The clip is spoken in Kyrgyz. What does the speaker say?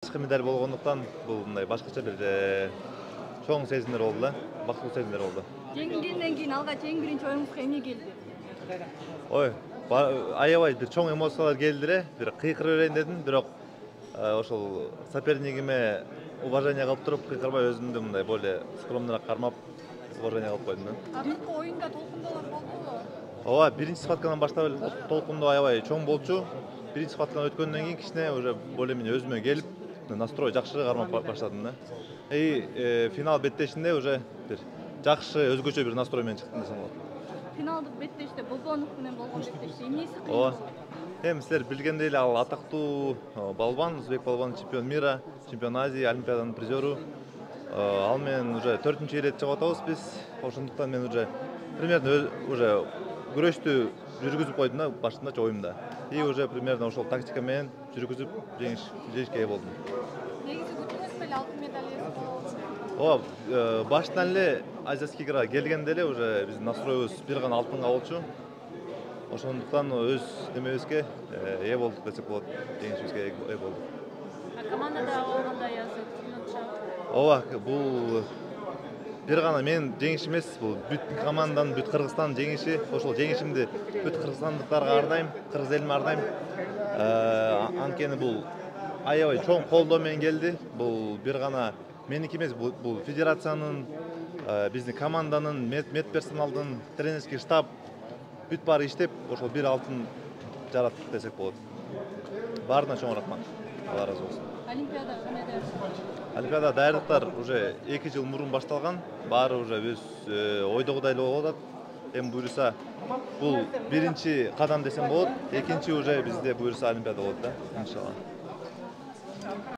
Башкы медаль болгондуктан бул мындай башкача бир чоң сезимдер болду да, бактылуу сезимдер болду. Жеңилгенден кийин алгач эң биринчи оюңузга эмне келди? Ой, аябай бир чоң эмоциялар келди эле, бир кыйкыра берейин дедим, бирок ошол сопернигиме уважение кылып туруп кыйкырбай өзүмдү мындай более скромныйраак кармап уважение кылып койдум да. Акыркы оюнда толкундоолор болдубу? Ооба, биринчи схваткадан баштап эле толкундоо аябай чоң болчу. Биринчи схватканы өткөндөн кийин кичине уже более-менее өзүмө келип, настрой жакшы кармап баштадым да. Финал беттешинде уже бир жакшы өзгөчө бир настрой менен чыктым десем болот. Финалдык беттеште Бобонов менен болгон беттеште эмнеси кыйын? Ооба. Силер билгендей эле ал атактуу балбан, Узбек балбан, чемпион мира, чемпион Азии, Олимпиаданын призеру. Ал менен уже 4-нчи ирет чыгып атабыз биз. Ошондуктан мен уже примерно уже күрөштү жүргүзүп койдум да башындачы оюмда. И уже примерно ошол тактика менен жүргүзүп жеңишке ээ болдум. Негизи күтүңүз беле алтын медаль ээси болобу? Ооба, баштан эле Азиатский играга келгенде эле уже биздин настройубуз бир гана алтынга болчу. Ошондуктан өз немебизге ээ болдук десек болот, жеңишибизге ээ болдук. Командада болгондой азыр түшүнүкчү. Ооба, бул бир гана менин жеңишим эмес, бул бүт команданын, бүт Кыргызстандын жеңиши. Ошол жеңишимди бүт кыргызстандыктарга арнайм, кыргыз элиме арнайм. Анткени бул аябай чоң колдоо менен келди. Бул бир гана меники эмес, бул федерациянын, биздин команданын, медперсоналдын, тренерский штаб бүт баары иштеп, ошол бир алтын жараттык десек болот. Баарына чоң рахмат. Алла ыраазы болсун. Олимпиада кандай даярсыңар? Олимпиада даярдыктар уже 2 жыл мурун башталган. Баары уже биз ойдогудай эле болуп атат. Эми буюрса бул биринчи кадам десем болот. Экинчи уже бизде буюрса Олимпиада болот да, иншалла.